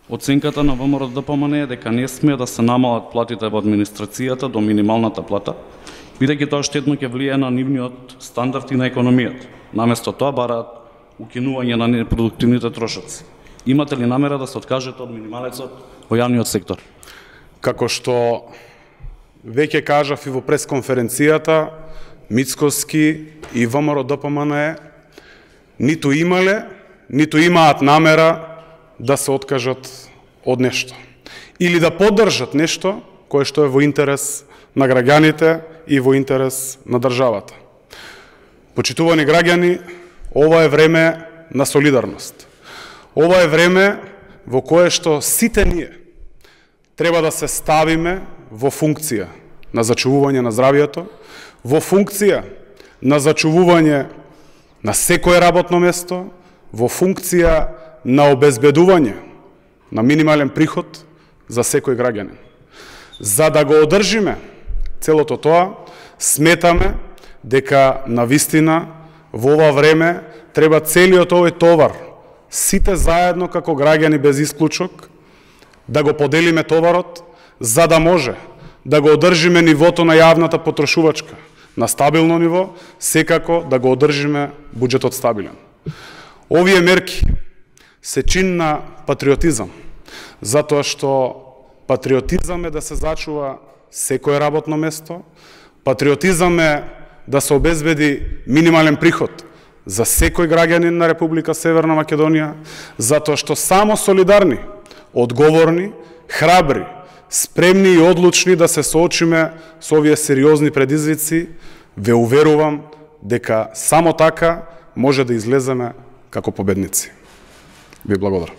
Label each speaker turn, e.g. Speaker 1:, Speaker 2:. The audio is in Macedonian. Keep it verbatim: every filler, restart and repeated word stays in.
Speaker 1: Оценката на ВМРО-ДПМН е дека не смее да се намалат платите во администрацијата до минималната плата, бидејќи тоа штетно ќе влијае на нивниот стандард и на економијата. Наместо тоа бараат укинување на непродуктивните трошоци. Имате ли намера да се откажете од минималецот во јавниот сектор?
Speaker 2: Како што веќе кажав и во пресконференцијата, Мицкоски и ВМРО-ДПМН ниту имале, ниту имаат намера да се откажат од нешто. Или да поддржат нешто кое што е во интерес на граѓаните и во интерес на државата. Почитувани граѓани, ова е време на солидарност. Ова е време во кое што сите ние треба да се ставиме во функција на зачувување на здравјето, во функција на зачувување на секое работно место, во функција на обезбедување на минимален приход за секој граѓанин. За да го одржиме целото тоа, сметаме дека навистина во ова време треба целиот овој товар, сите заедно како граѓани без исклучок, да го поделиме товарот, за да може да го одржиме нивото на јавната потрошувачка на стабилно ниво, секако да го одржиме буџетот стабилен. Овие мерки се чин на патриотизам, затоа што патриотизам е да се зачува секое работно место, патриотизам е да се обезбеди минимален приход за секој граѓанин на Република Северна Македонија, затоа што само солидарни, одговорни, храбри, спремни и одлучни да се соочиме со овие сериозни предизвици, ве уверувам дека само така може да излеземе како победници. Ви благодарам.